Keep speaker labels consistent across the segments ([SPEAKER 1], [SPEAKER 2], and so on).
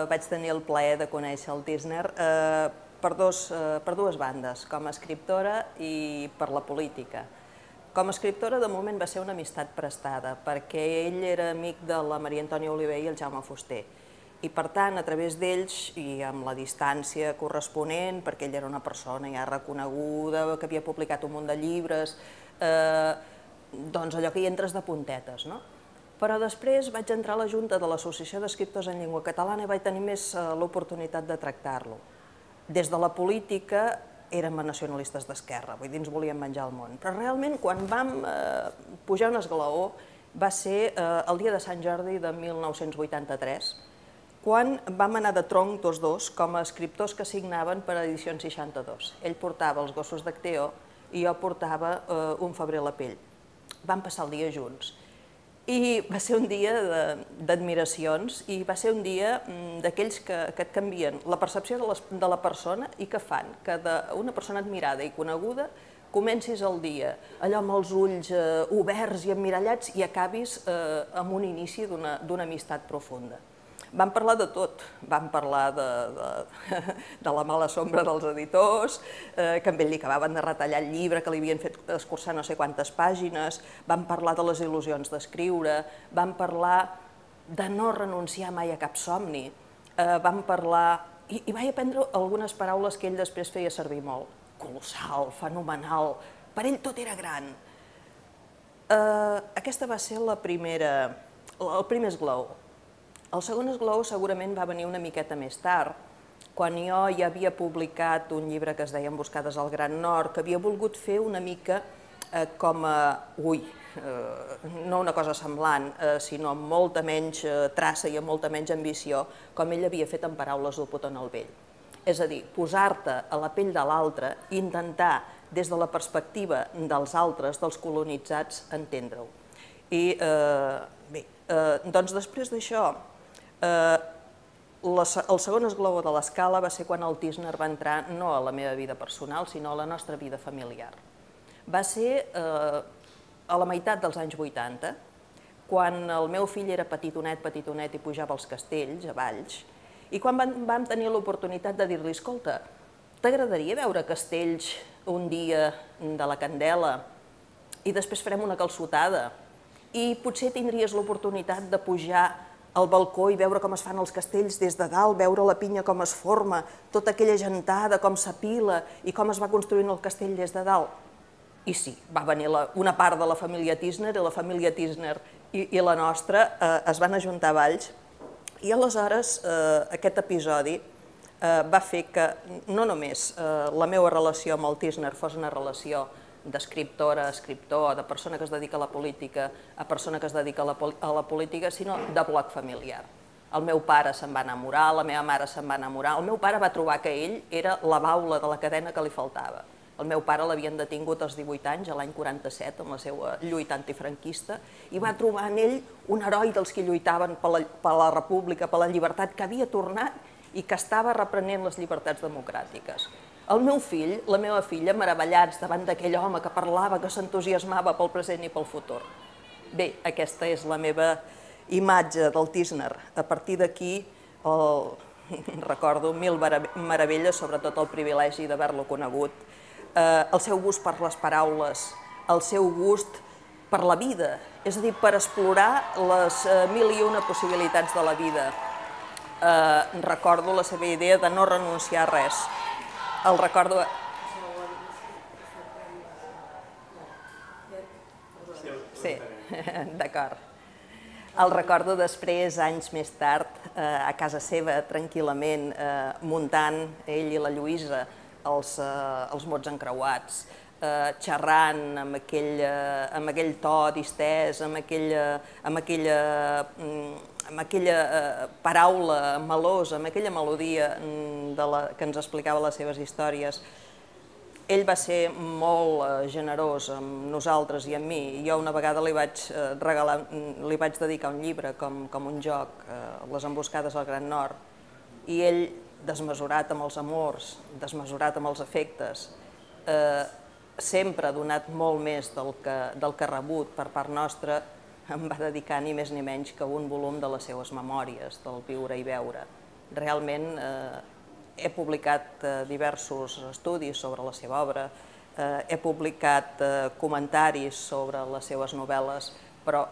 [SPEAKER 1] vaig tenir el plaer de conèixer el Tísner per dues bandes, com a escriptora i per la política. Com a escriptora, de moment, va ser una amistat prestada, perquè ell era amic de la Maria Antònia Oliver i el Jaume Fuster. I, per tant, a través d'ells, i amb la distància corresponent, perquè ell era una persona ja reconeguda, que havia publicat un munt de llibres, doncs allò que hi entres de puntetes, no? Però després vaig entrar a la Junta de l'Associació d'Escriptors en Llengua Catalana i vaig tenir més l'oportunitat de tractar-lo. Des de la política érem nacionalistes d'esquerra, vull dir, ens volíem menjar el món. Però realment, quan vam pujar un esglaó, va ser el dia de Sant Jordi de 1983, quan vam anar de tronc tots dos com a escriptors que signaven per a Edicions 62. Ell portava Els gossos d'Acteó i jo portava Un febrer a la pell. Vam passar el dia junts. I va ser un dia d'admiracions i va ser un dia d'aquells que et canvien la percepció de la persona i que fan que d'una persona admirada i coneguda comencis el dia allò amb els ulls oberts i emmirallats i acabis amb un inici d'una amistat profunda. Vam parlar de tot, vam parlar de la mala sombra dels editors, que a ell li acabaven de retallar el llibre, que li havien fet escurçar no sé quantes pàgines, vam parlar de les il·lusions d'escriure, vam parlar de no renunciar mai a cap somni, vam parlar... I vaig aprendre algunes paraules que ell després feia servir molt. Colossal, fenomenal, per ell tot era gran. Aquesta va ser el primer esglaó. El segon esglaó segurament va venir una miqueta més tard, quan jo ja havia publicat un llibre que es deia Emboscades al Gran Nord, que havia volgut fer una mica com a... no una cosa semblant, sinó amb molta menys traça i amb molta menys ambició, com ell havia fet en Paraules del Potó en el Vell. És a dir, posar-te a la pell de l'altre i intentar, des de la perspectiva dels altres, dels colonitzats, entendre-ho. I bé, doncs després d'això, el segon esglaó de l'escala va ser quan el Tísner va entrar no a la meva vida personal, sinó a la nostra vida familiar. Va ser a la meitat dels anys 80, quan el meu fill era petitonet i pujava als castells, a Valls, i quan vam tenir l'oportunitat de dir-li, escolta, t'agradaria veure castells un dia de la Candela i després farem una calçotada i potser tindries l'oportunitat de pujar al balcó i veure com es fan els castells des de dalt, veure la pinya com es forma, tota aquella gentada, com s'apila i com es va construint el castell des de dalt. I sí, va venir una part de la família Tísner i la família Tísner i la nostra es van ajuntar a Valls i aleshores aquest episodi va fer que no només la meva relació amb el Tísner fos una relació d'escriptora a escriptor, de persona que es dedica a la política a persona que es dedica a la política, sinó de bloc familiar. El meu pare se'n va enamorar, la meva mare se'n va enamorar, el meu pare va trobar que ell era la baula de la cadena que li faltava. El meu pare l'havien detingut als 18 anys, l'any 47, amb la seva lluita antifranquista, i va trobar en ell un heroi dels que lluitaven per la república, per la llibertat, que havia tornat i que estava reprenent les llibertats democràtiques. El meu fill, la meva filla, meravellats davant d'aquell home que parlava, que s'entusiasmava pel present i pel futur. Bé, aquesta és la meva imatge del Tísner. A partir d'aquí recordo mil meravelles, sobretot el privilegi d'haver-lo conegut, el seu gust per les paraules, el seu gust per la vida, és a dir, per explorar les mil i una possibilitats de la vida. Recordo la seva idea de no renunciar a res. El recordo... Sí, d'acord. El recordo després, anys més tard, a casa seva, tranquil·lament, muntant ell i la Lluïsa els mots encreuats, xerrant amb aquell to distès, amb aquella paraula melosa, amb aquella melodia que ens explicava les seves històries. Ell va ser molt generós amb nosaltres i amb mi. Jo una vegada li vaig dedicar un llibre com un joc, Les emboscades al Gran Nord, i ell, desmesurat amb els amors, desmesurat amb els afectes, sempre ha donat molt més del que ha rebut per part nostra, em va dedicar ni més ni menys que un volum de les seues memòries, del viure i veure. Realment he publicat diversos estudis sobre la seva obra, he publicat comentaris sobre les seves novel·les, però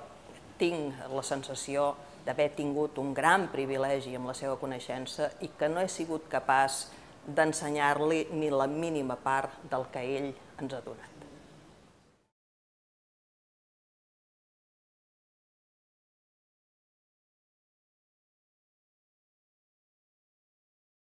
[SPEAKER 1] tinc la sensació d'haver tingut un gran privilegi amb la seva coneixença i que no he sigut capaç d'ensenyar-li ni la mínima part del que ell ens ha donat.